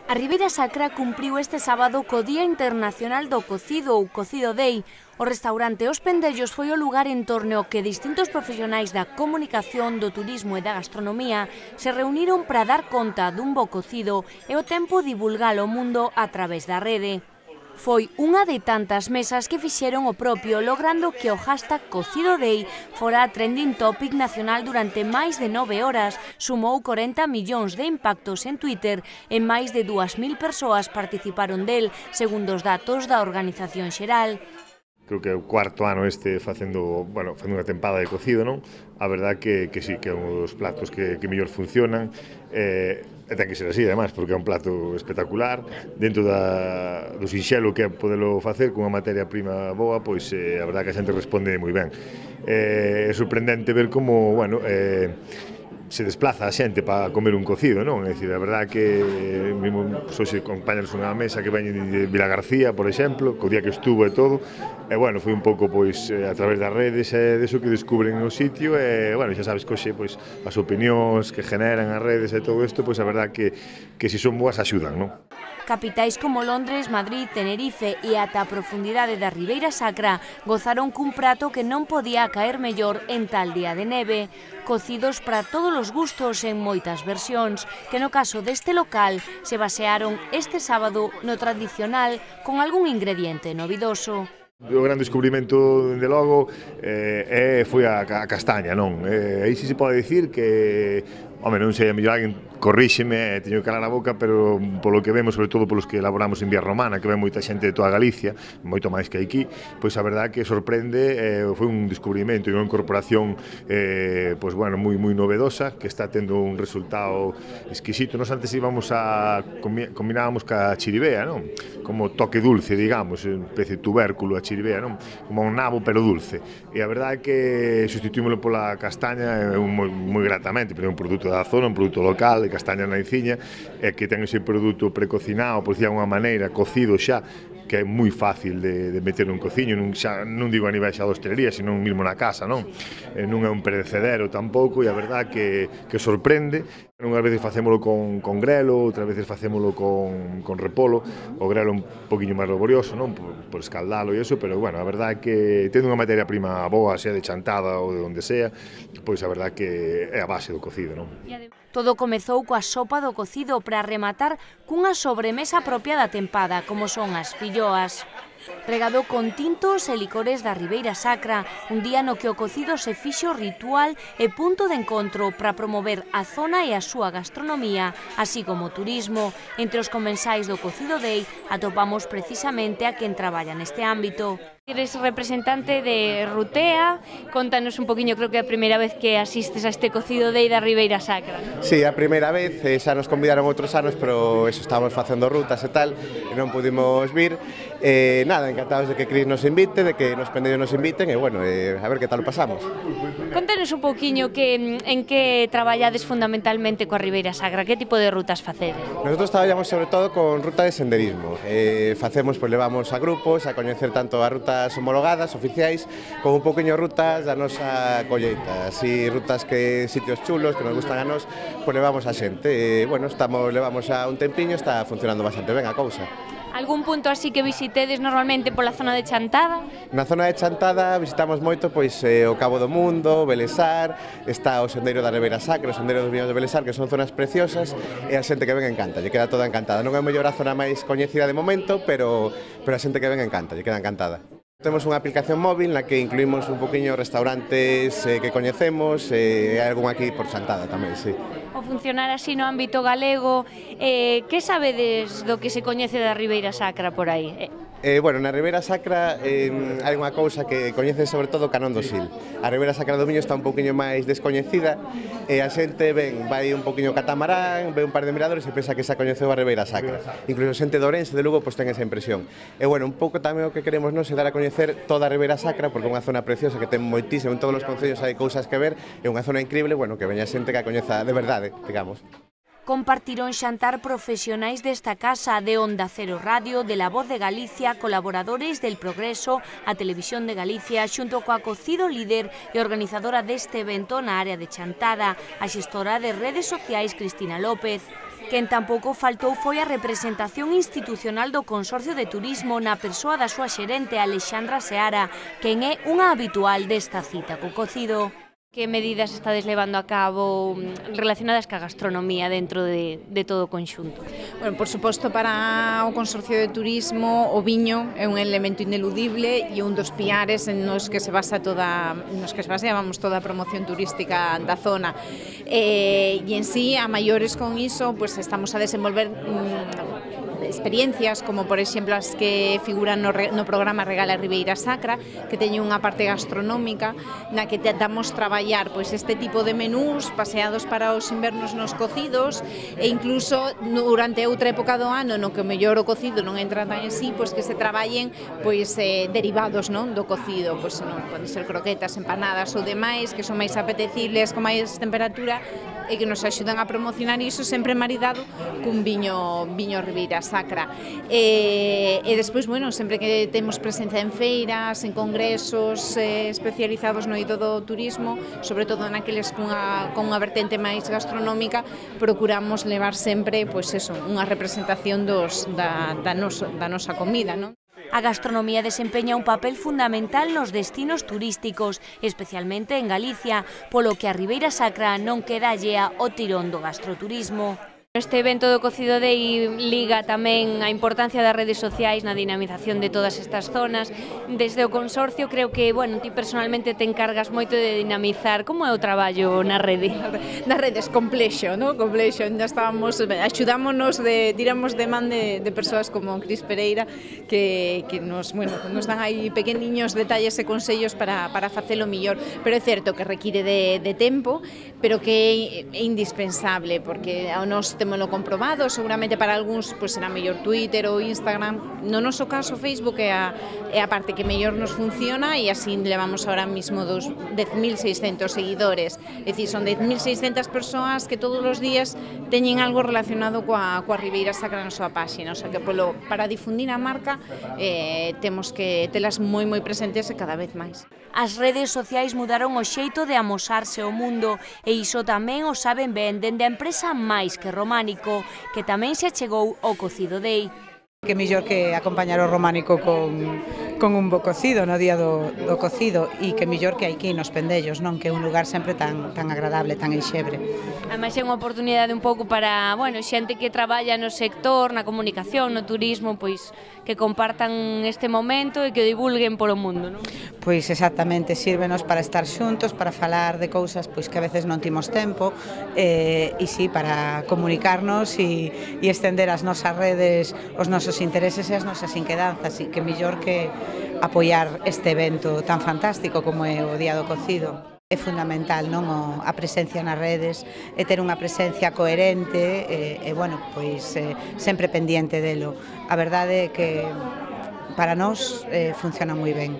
A Ribeira Sacra cumpriu este sábado co Día Internacional do Cocido ou Cocido Day. O restaurante Os Pendellos foi o lugar en torno ao que distintos profesionais da comunicación, do turismo e da gastronomía se reuniron para dar conta dun bo cocido e ao tempo divulgalo ao mundo a través da rede. Foi unha de tantas mesas que fixeron o propio, logrando que o hashtag Cocido Day fora trending topic nacional durante máis de 9 horas, sumou 40 millóns de impactos en Twitter e máis de 2.000 persoas participaron del, segundo os datos da organización xeral. Creo que é o cuarto ano facendo unha tempada de cocido, non? A verdad que sí, que é un dos platos que mellor funcionan, e ten que ser así, además, porque é un plato espectacular. Dentro do sinxelo que é podelo facer con unha materia prima boa, pois a verdad que a xente responde moi ben. É sorprendente ver como, se desplaza a xente para comer un cocido, non? É dicir, a verdad que hoxe acompañanos unha mesa que veñen de Vilagarcía, por exemplo, co día que estuvo e todo, e foi un pouco a través das redes e deso que descubren o sitio, e xa sabes que hoxe as opinións que generan as redes e todo isto, a verdad que se son boas axudan, non? Capitais como Londres, Madrid, Tenerife e ata a profundidade da Ribeira Sacra gozaron cun prato que non podía caer mellor en tal día de neve. Cocidos para todos os gustos en moitas versións, que no caso deste local se basearon este sábado no tradicional con algún ingrediente novidoso. O gran descubrimento, dende logo, foi a castaña, non? Aí si se pode dicir que, non sei, a mellor alguén corríxeme, teño que calar a boca, pero polo que vemos, sobre todo polos que elaboramos en Vía Romana, que ven moita xente de toda Galicia, moito máis que aquí, pois a verdad que sorprende, foi un descubrimento e unha incorporación moi novedosa, que está tendo un resultado exquisito. Nos antes combinábamos ca chiribea, non? Como toque dulce, digamos, un especie de tubérculo a chiribea, non? Como un nabo pero dulce. E a verdade é que sustituímoslo pola castaña moi gratamente, pero é un produto da zona, un produto local, de castaña na Iciña, e que ten ese produto precocinado, por decir de alguma maneira, cocido xa, que é moi fácil de meter nun cociño, non digo a nivel xa de hostelería, sino mesmo na casa, non? Non é un perecedero tampouco, e a verdade que sorprende. Unhas veces facémolo con grelo, outras veces facémolo con repolo, o grelo un poquinho máis laborioso, non? Por escaldalo e iso, pero a verdade é que tendo unha materia prima boa, sea de chantada ou de onde sea, pois a verdade que é a base do cocido, non? Todo comezou coa sopa do cocido para rematar cunha sobremesa propia da tempada, como son as filloas. Regado con tintos e licores da Ribeira Sacra, un día no que o cocido se fixo ritual e punto de encontro para promover a zona e a súa gastronomía, así como o turismo. Entre os comensais do Cocido Day atopamos precisamente a quen traballa neste ámbito. Eres representante de Rutea, contanos un poquinho, creo que é a primeira vez que asistes a este Cocido Day da Ribeira Sacra, non? Sí, a primeira vez, xa nos convidaron outros anos, pero estábamos facendo rutas e tal, e non pudimos vir. Encantados de que Cris nos invite, de que nos Pendellos nos inviten, e a ver que tal o pasamos. Contanos un pouquiño en que traballades fundamentalmente coa Ribeira Sacra, que tipo de rutas facedes? Nosotros traballamos sobre todo con ruta de senderismo. Levamos a grupos a coñecer tanto as rutas homologadas, oficiais, como un poquinho rutas da nosa colleita, así rutas sitios chulos que nos gustan a nós, levamos a xente. Levamos a un tempiño, está funcionando bastante ben a cousa. Algún punto así que visitedes normalmente pola zona de Chantada? Na zona de Chantada visitamos moito o Cabo do Mundo, Belesar, está o Sendeiro da Ribeira Sacra, o Sendeiro dos Viños de Belesar, que son zonas preciosas, e a xente que ven encanta, lle queda toda encantada. Non é mellor a zona máis coñecida de momento, pero a xente que ven encanta, lle queda encantada. Temos unha aplicación móvil na que incluímos un poquinho restaurantes que coñecemos, e hai algún aquí por Chantada tamén, sí. O funcionar así no ámbito galego, que sabedes do que se coñece da Ribeira Sacra por aí? Na Ribeira Sacra hai unha cousa que coñecen sobre todo o Canón do Sil. A Ribeira Sacra do Miño está un poquinho máis descoñecida, e a xente vai un poquinho catamarán, ve un par de miradores e pensa que xa coñeceu a Ribeira Sacra. Incluso xente de Ourense, de Lugo, ten esa impresión. Un pouco tamén o que queremos nos é dar a coñecer toda a Ribeira Sacra, porque é unha zona preciosa que ten moitísimo, en todos os concellos hai cousas que ver, é unha zona increíble, que veña xente que a coñeza de verdade, digamos. Compartiron xantar profesionais desta casa, de Onda Cero Radio, de La Voz de Galicia, colaboradores del Progreso, a Televisión de Galicia, xunto coa Cocido Líder e organizadora deste evento na área de chantada, a xestora de redes sociais Cristina López. Quen tampouco faltou foi a representación institucional do Consorcio de Turismo na persoa da súa xerente Alexandra Seara, quen é unha habitual desta cita co cocido. Que medidas estades levando a cabo relacionadas ca gastronomía dentro de todo o conxunto? Bueno, por suposto, para o Consorcio de Turismo o viño é un elemento ineludible e un dos piares nos que se baseamos toda a promoción turística da zona. E en sí, a maiores con iso, pues estamos a desenvolver experiencias como por exemplo as que figuran no programa Regala Ribeira Sacra, que teñen unha parte gastronómica na que tentamos traballar pois este tipo de menús paseados para os invernos nos cocidos e incluso durante outra época do ano no que o mellor o cocido non entra tan en sí, pois que se traballen pois derivados, non, do cocido, pois non poden ser croquetas, empanadas ou demais que son máis apetecibles, con máis temperatura e que nos axudan a promocionar iso sempre maridado cun viño Ribeira Sacra. E despois, bueno, sempre que temos presencia en feiras, en congresos especializados no eido do turismo, sobre todo naqueles con unha vertente máis gastronómica, procuramos levar sempre, pois eso, unha representación da nosa comida, non? A gastronomía desempeña un papel fundamental nos destinos turísticos, especialmente en Galicia, polo que a Ribeira Sacra non queda allea o tirón do gastroturismo. Este evento do Cocido Day liga tamén a importancia das redes sociais na dinamización de todas estas zonas. Desde o consorcio creo que, bueno, ti personalmente te encargas moito de dinamizar. Como é o traballo na rede? Nas redes, complexo, non? Complexo. Axudámonos, tiramos de man de persoas como Cris Pereira que nos dan aí pequeniños detalles e consellos para facelo millor. Pero é certo que require de tempo, pero que é indispensable, porque ao nos témolo comprobado, seguramente para algúns pois será mellor Twitter ou Instagram. No noso caso, Facebook é a parte que mellor nos funciona e así levamos ahora mismo 10.600 seguidores. É dicir, son 10.600 persoas que todos os días teñen algo relacionado coa Ribeira Sacra na súa páxina. O sea que para difundir a marca temos que telas moi presentes e cada vez máis. As redes sociais mudaron o xeito de amosarse o mundo e iso tamén o saben ben dende a empresa Máis que Románico, que tamén se achegou ao Cocido Day. Que mellor que acompañar o románico con un bo cocido no día do cocido e que mellor que aquí nos Pendellos, non? Que é un lugar sempre tan agradable, tan enxebre. Ademais é unha oportunidade un pouco para, bueno, xente que traballa no sector, na comunicación, no turismo, pois que compartan este momento e que o divulguen polo mundo, non? Pois exactamente, sírvenos para estar xuntos, para falar de cousas pois que a veces non timos tempo e si, para comunicarnos e estender as nosas redes, os nosos intereses e as nosas inquedanzas, e que mellor que apoiar este evento tan fantástico como é o Día do Cocido. É fundamental, non, a presencia nas redes e ter unha presencia coherente e bueno, pois sempre pendiente delo. A verdade é que para nós funciona moi ben.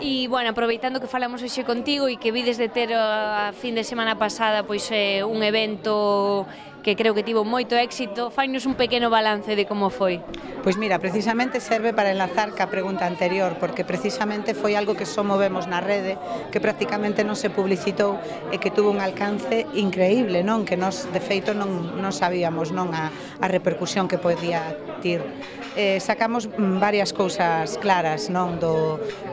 E, bueno, aproveitando que falamos hoxe contigo e que vides de ter a fin de semana pasada pois un evento que creo que tivo moito éxito, fainos un pequeno balance de como foi. Pois mira, precisamente serve para enlazar ca pregunta anterior, porque precisamente foi algo que só movemos na rede, que prácticamente non se publicitou e que tuvo un alcance increíble, non? Que nós, de feito, non sabíamos, non, a repercusión que podía ter. Sacamos varias cousas claras, non,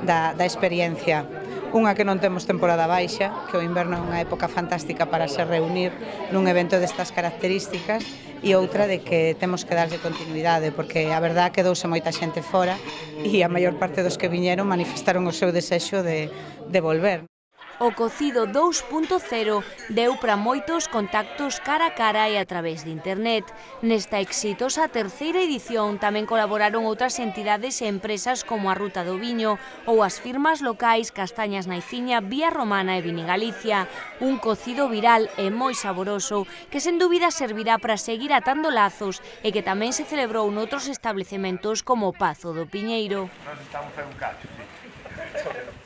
da experiencia. Unha, que non temos temporada baixa, que o inverno é unha época fantástica para se reunir nun evento destas características, e outra de que temos que darlle continuidade, porque a verdad quedouse moita xente fora e a maior parte dos que viñeron manifestaron o seu desexo de volver. O Cocido 2.0 deu para moitos contactos cara a cara e a través de internet. Nesta exitosa terceira edición tamén colaboraron outras entidades e empresas como a Ruta do Viño ou as firmas locais Castañas na Iciña, Vía Romana e Vinigalicia. Un cocido viral e moi saboroso que sen dúbida servirá para seguir atando lazos e que tamén se celebrou noutros establecementos como o Pazo do Piñeiro. Nós estamos a un cacho, sí.